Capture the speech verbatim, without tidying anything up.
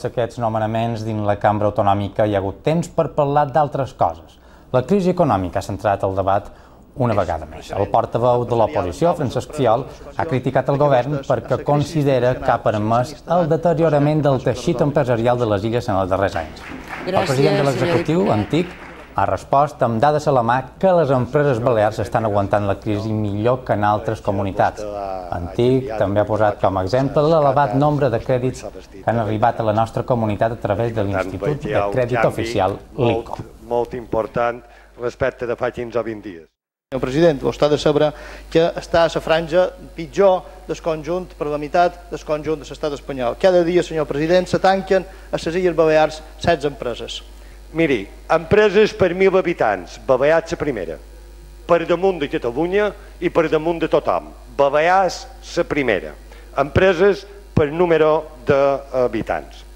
Aquests nomenaments dins la cambra autonòmica hi ha hagut temps per parlar d'altres coses. La crisi econòmica ha centrat el debat una vegada més. El portaveu de l'oposició, Francesc Fiol, ha criticat el govern perquè considera que ha permès el deteriorament del teixit empresarial de les illes en els darrers anys. El president de l'executiu, Antic, ha respost amb dades a la mà que les empreses balears estan aguantant la crisi millor que en altres comunitats. Antic també ha posat com a exemple l'elevat nombre de crèdits que han arribat a la nostra comunitat a través de l'Institut de Crèdit Oficial, l'I C O. Molt important respecte de fa quinze o vint dies. Senyor president, vostè ha de saber que està a la franja pitjor del conjunt, per la meitat del conjunt de l'estat espanyol. Cada dia, senyor president, se tanquen a les Illes Balears setze empreses. Miri, empreses per mil habitants, Balears la primera, per damunt de Catalunya i per damunt de tothom. Balears la primera, empreses per número d'habitants.